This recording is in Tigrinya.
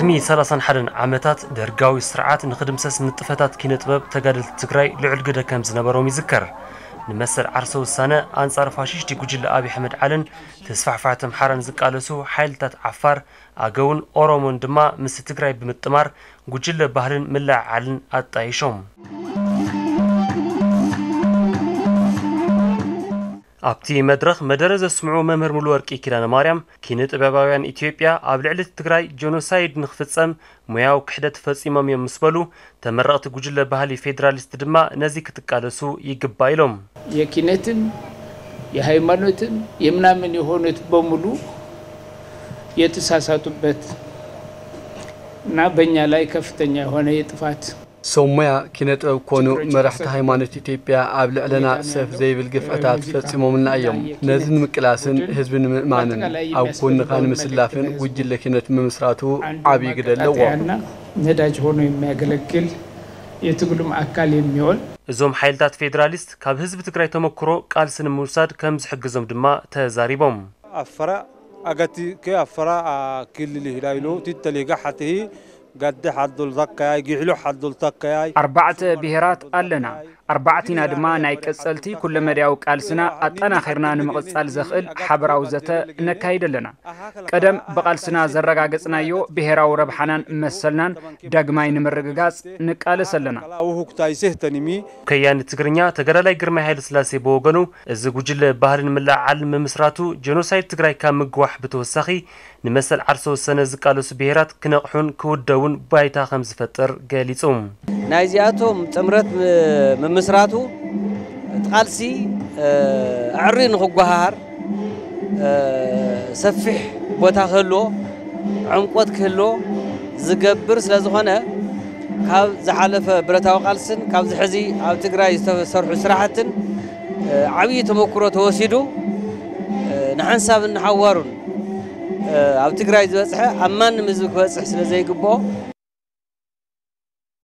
ቅድሚ ሰላሳን ሓደን ዓመታት ደርጋዊ ስርዓት ንኽድምሰስ ንጥፈታት ኪነ ጥበብ ተጋደልቲ ትግራይ ልዑል ግደ ከም ዝነበሮም ይዝከር። ንመሰል ዓርሰ ውሳነ ኣንጻር ፋሽስቲ ጉጅለ ኣብይ ኣሕመድ ዓልን ተስፋሕፋሕቲ ኣምሓራን ዝቃለሱ ሓይልታት ዓፋር፣ ኣገውን ኦሮሞን ድማ ምስ ትግራይ ብምጥማር ጉጅለ ባህልን ምልዕዓልን ኣጣይሾም። ኣብቲ መድረኽ መደረ ዘስምዑ መምህር ሙሉወርቂ ኪዳነ ማርያም፣ ኪነ ጥበባውያን ኢትዮጵያ ኣብ ልዕሊ ትግራይ ጀኖሳይድ ንኽፍጸም ሞያዊ ክሕደት ፈጺሞም እዮም ምስ በሉ፣ ተመረቕቲ ጉጅለ ባህሊ ፌዴራሊስት ድማ ነዚ ክትቃለሱ ይግባእ ኢሎም። የኪነትም የሃይማኖትም የምናምን የሆኑት በሙሉ የተሳሳቱበት እና በእኛ ላይ ከፍተኛ የሆነ የጥፋት ሰብ ሞያ ኪነ ጥበብ ኮኑ መራሕቲ ሃይማኖት ኢትዮጵያ ኣብ ልዕለና ሰፍ ዘይብል ግፍዕታት ፈጺሞምልና እዮም። ነዚ ንምቅላስን ህዝቢ ንምእማንን ኣብ ጎንኻ ንምስላፍን ጉጅለ ኪነት ምምስራቱ ዓብዪ ግደ ኣለዎ። ነዳጅ ሆኖ የሚያገለግል የትግሉም አካል የሚሆን እዞም ሓይልታት ፌዴራሊስት ካብ ህዝቢ ትግራይ ተመክሮ ቃልሲ ንምውሳድ ከም ዝሕግዞም ድማ ተዛሪቦም። ኣፈራ ኣገቲ ከ ኣፈራ ክልል ይህዳይሎ ትተሌጋ ሓትሂ ጋዲ ሓዶል ዛካያይ ጊዕሎ ሓዶል ታካያይ ኣርባዕተ ብሄራት ኣለና። ኣርባዕቲና ድማ ናይ ቀጸልቲ ኩለመዳያዊ ቃልስና ኣጠናኺርና ንምቕጻል ዘኽእል ሓበራዊ ዘተ ነካይድ ኣለና። ቀደም ብቓልስና ዘረጋገጽናዮ ብሄራዊ ረብሓናን መሰልናን ዳግማይ ንምርግጋጽ ንቃለስ ኣለና። ውሁክታይ ስህተኒሚ ከያኒ ትግርኛ ተጋዳላይ ግርማይ ሃይለስላሴ ብወገኑ፣ እዚ ጉጅለ ባህልን ምልዕዓልን ምምስራቱ ጀኖሳይድ ትግራይ ካብ ምግዋሕ ብተወሳኺ ንመሰል ዓርሰ ወሰነ ዝቃለሱ ብሄራት ክነቕሑን ክውደቡን ባይታ ከም ዝፈጥር ገሊጹ። ናይዚኣቶም ጥምረት ምምስራቱ እቲ ቃልሲ ኣዕርዩ ንኽጓሃሃር ሰፊሕ ቦታ ክህልዎ ዕምቆት ክህልዎ ዝገብር ስለ ዝኾነ ካብ ዝሓለፈ ብረታዊ ቃልስን ካብዚ ሕዚ ኣብ ትግራይ ዝተሰርሑ ስራሕትን ዓብዪ ተመክሮ ተወሲዱ ንሓንሳብን ንሓዋሩን ኣብ ትግራይ ዝበፅሐ ኣብ ማንም ህዝቢ ክበፅሕ ስለ ዘይግብኦ